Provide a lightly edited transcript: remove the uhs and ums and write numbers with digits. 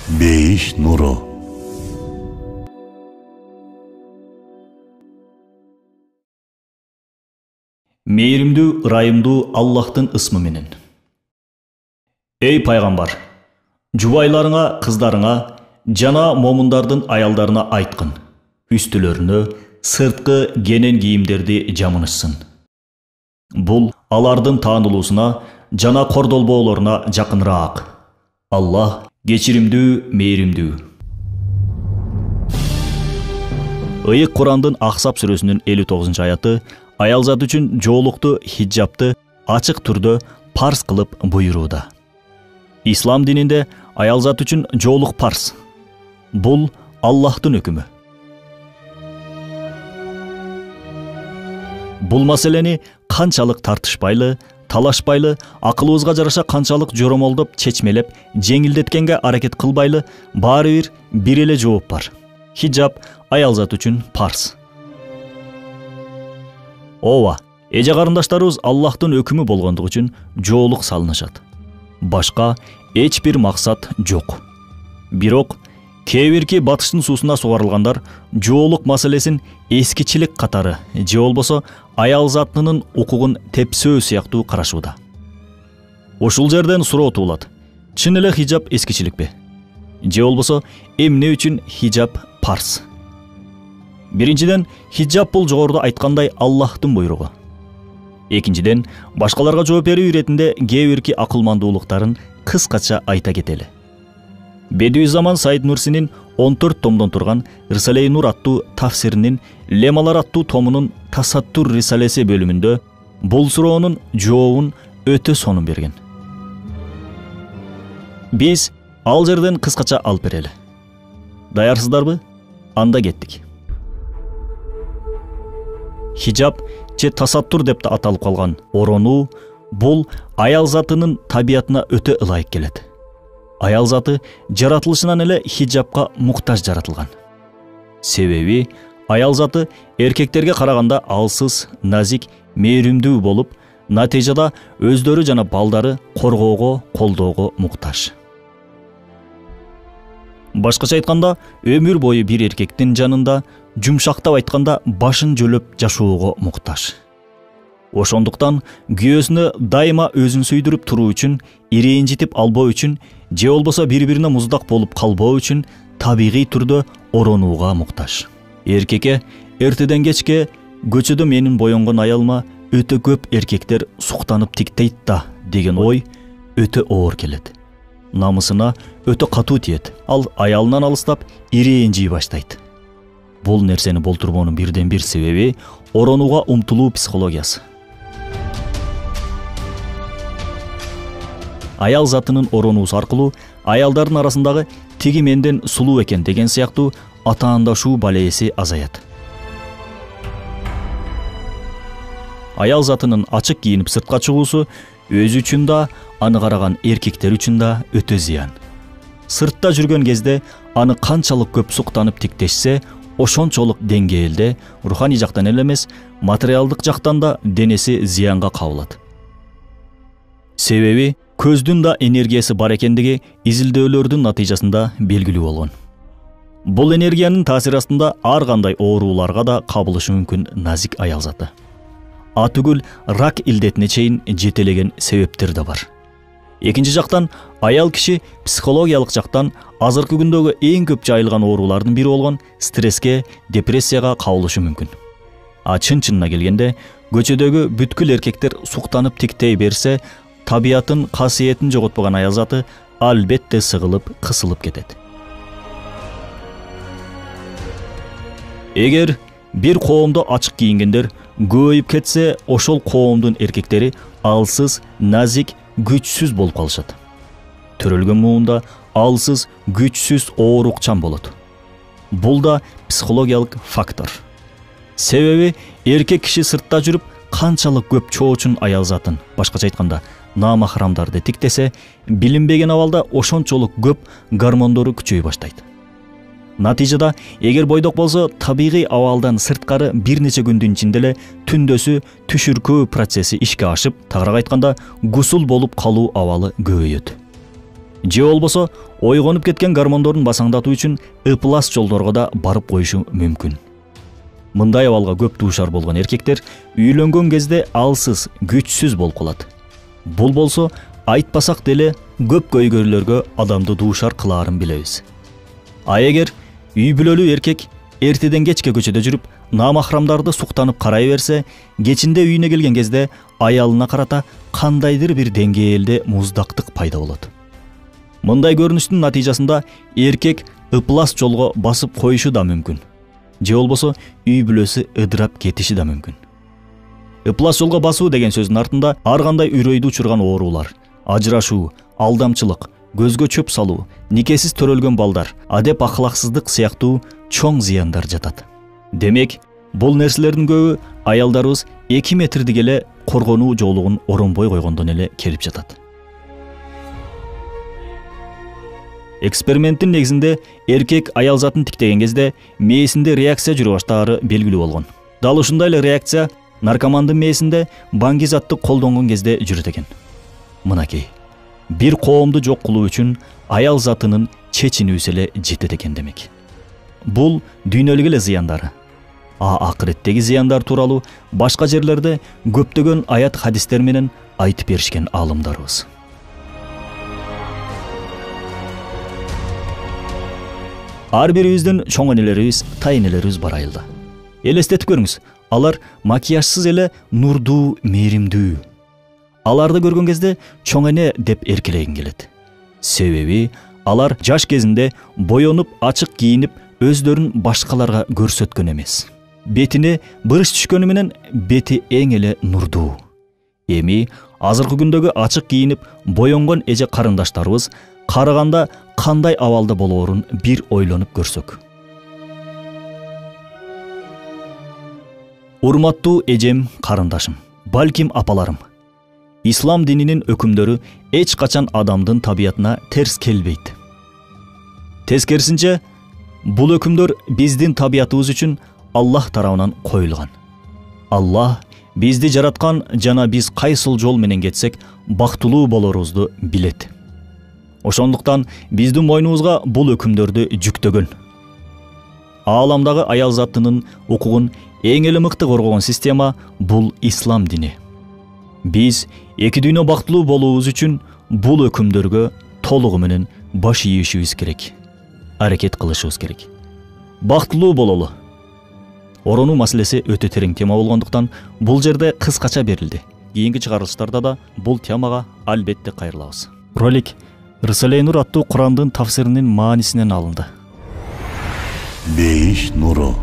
Бейиш нуру. Мейримдүү, ырайымдуу Аллахтын ысмы менен. Эй пайгамбар, жубайларыңа, кыздарыңа жана момундардын аялдарына айткын, үстүлөрүнө сырткы кенен кийимдерди жамынышсын. Бул алардын таанылуусуна жана кордолбоолоруна жакыныраак. Аллах кечиримдүү, мейримдүү. Ыйык Курандын Ахсап сүрөсүнүн 59-аяты аял зат үчүн жоолукту, хиджабты ачык түрдө парз кылып буйрууда. Ислам дининде аял зат үчүн жоолук парз. Бул Аллахтын өкүмү. Бул маселени канчалык тартышпайлы, талашпайлы, акылыбызга жараша канчалык жоромолдоп, чечмелеп, жеңилдеткенге аракет кылбайлы, баары бир эле жооп бар. Хиджаб аял зат үчүн парз. Ооба, эже карындаштарыбыз Аллахтын өкүмү болгондугу үчүн жоолук салынышат. Башка эч бир максат жок. Бирок кээ бирки батыштын суусуна сугарылгандар жоолук маселесин эскичилик катары же болбосо аял затынын укугун тепсөө сыяктуу карашууда. Ушул жерден суроо туулат. Чын эле хиджаб эскичиликпи? Же болбосо эмне үчүн хиджаб парз? Биринчиден, хиджаб бул жогоруда айткандай Аллахтын буйругу. Экинчиден, башкаларга жооп берүү иретинде кээ бирки акылмандуулуктарын кыскача айта кетели. Бедуизаман Саид Нурсинин 14 томдон турган Рисале-и Нур аттуу тафсиринин Лемалар аттуу томунун Тасаттур рисалеси бөлүмүндө бул суроонун жообун өтө сонун берген. Биз ал жерден кыскача алып берели. Даярсыздарбы? Анда кеттик. Хиджаб же тасаттур деп да аталып калган оронуу бул аял затынын табиятына өтө ылайык келет. Аял заты жаратылышынан эле хиджабка муктаж жаратылган. Себеби аял заты эркектерге караганда алсыз, назик, мээримдүү болуп, натыйжада өздөрү жана балдары коргоого, колдоого муктаж. Башкача айтканда, өмүр бою бир эркектин жанында, жумшактап айтканда башын жөлөп жашоого муктаж. Ошондуктан күйөөсүнө дайыма өзүн сүйдүрүп туруу үчүн, ирэнжитип албоо үчүн, же болбосо бири-бирине муздак болуп калбоо үчүн табигый түрдө оронууга муктаж. Эркекке эртеден кечке көчөдө менин боенгон аялыма өтө көп эркектер суктанып тиктейт да деген ой өтө оор келет. Намысына өтө катуу тиет. Ал аялынан алыстап ирэнжий баштайт. Бул нерсени болтурбоонун бирден бир себеби оронууга умтулуу психологиясы. Аял затынын оронуусу аркылуу аялдардын арасындагы тиги менден сулуу экен деген сыяктуу атаандашуу балеси азаят. Аял затынын ачык кийинип сыртка чыгуусу өзү үчүн да, аны караган эркектер үчүн да өтө зыян. Сыртта жүргөн кезде аны канчалык көп суктанып тиктешсе, ошончолук деңгээлде руханий жактан эле эмес, материалдык жактан да денеси зыянга кабылат. Себеби көздүн да энергиясы бар экендиги изилдөөлөрдүн натыйжасында белгилүү болгон. Бул энергиянын таасири астында ар кандай ооруларга да кабылышы мүмкүн назик аял заты. Атүгүл рак илдетине чейин жетелеген себептер да бар. Экинчи жактан аял киши психологиялык жактан азыркы күндөгү эң көп жайылган оорулардын бири болгон стресске, депрессияга кабылышы мүмкүн. Чын-чынына келгенде, көчөдөгү бүткүл эркектер суктанып тиктей берсе, табиятын, касиетин жоготпогон аял заты албетте сыгылып, кысылып кетет. Эгер бир коомдо ачык кийингендер көбөйүп кетсе, ошол коомдун эркектери алсыз, назик, күчсүз болуп калышат. Төрөлгөн муунда алсыз, күчсүз, оорукчан болот. Бул да психологиялык фактор. Себеби эркек киши сыртта жүрүп канчалык көп чоочун аял затын, башкача айтканда, намахрамдарды тиктесе, билинбеген абалда ошончолук көп гормондору күчөй баштайт. Натыйжада, эгер бойдок болсо, табигый абалдан сырткары бир нече күндүн ичинде эле түндөсү түшүркөө процесси ишке ашып, тагыраак айтканда, гусул болуп калуу абалы көбөйөт. же болбосо ойгонуп кеткен гормондорун басаңдатуу үчүн ыплас жолдорго да барып коюшу мүмкүн. Мындай абалга көп дуушар болгон эркектер үйлөнгөн кезде алсыз, күчсүз болуп калат. Бул болсо айтпасак деле көп көйгөйлөргө адамды дуушар кылаарын билебиз. А эгер үй бүлөлүү эркек эртеден кечке көчөдө жүрүп, намахрамдарды суктанып карай берсе, кечинде үйүнө келген кезде аялына карата кандайдыр бир деңгээлде муздактык пайда болот. Мындай көрүнүштүн натыйжасында эркек ыплас жолго басып коюшу да мүмкүн. Же болбосо үй бүлөсү ыдырап кетиши да мүмкүн. Ыплас жолго басуу деген сөздүн артында ар кандай үрөйдү учурган оорулар, ажырашуу, алдамчылык, көзгө чөп салуу, никесиз төрөлгөн балдар, адеп акылаксыздык сыяктуу чоң зыяндар жатат. Демек, бул нерселердин көбү аялдарыбыз 2 метрдик эле коргонуу жоолугун оронбой койгондон эле келип жатат. Эксперименттин негизинде эркек аял затын тиктеген кезде мээсинде реакция жүрө баштаары белгилүү болгон. Дал ушундай эле реакция наркомандын мээсинде баңги-затты колдонгон кезде жүрөт экен. Мынакей, бир коомду жок кылуу үчүн аял затынын чечинүүсү эле жетет экен демек. Бул дүйнөлүк эле зыяндары. Акыреттеги зыяндар тууралуу башка жерлерде көптөгөн аят хадистер менен айтып беришкен аалымдарыбыз. Ар бирибиздин чоң энелерибиз, тайнелерибиз бар айылда. Элестетип көрүңүз, алар макияжсыз эле нурдуу, мээримдүү. Аларды көргөн кезде чоң эне деп эркелегин келет. Себеби алар жаш кезинде боенуп, ачык кийинип, өздөрүн башкаларга көрсөткөн эмес. Бетине бырыш түшкөнү менен бети эң эле нурдуу. Эми азыркы күндөгү ачык кийинип, боенгон эже карындаштарыбыз караганда кандай абалда болоорун бир ойлонуп көрсөк. Урматтуу эжем, карындашым, балким апаларым. Ислам дининин өкүмдөрү эч качан адамдын табиятына терс келбейт. Тескерисинче, бул өкүмдөр биздин табиятыбыз үчүн Аллах тарабынан коюлган. Аллах бизди жараткан жана биз кайсыл жол менен кетсек бактылуу болорубузду билет. Ошондуктан биздин мойнубузга бул өкүмдөрдү жүктөгөн. Ааламдагы аял затынын укугун эң эле мыкты коргогон система бул ислам дини. Биз эки дүйнө бактылуу болуубуз үчүн бул өкүмдөргө толугу менен баш ийишибиз керек. Аракет кылышыбыз керек. Бактылуу бололу. Оронуу маселеси өтө терең тема болгондуктан бул жерде кыскача берилди. Кийинки чыгарылыштарда да бул темага албетте кайрылабыз. Ролик Рисале Нур аттуу Курандын тафсиринин маанисинен алынды. Бейиш нуру.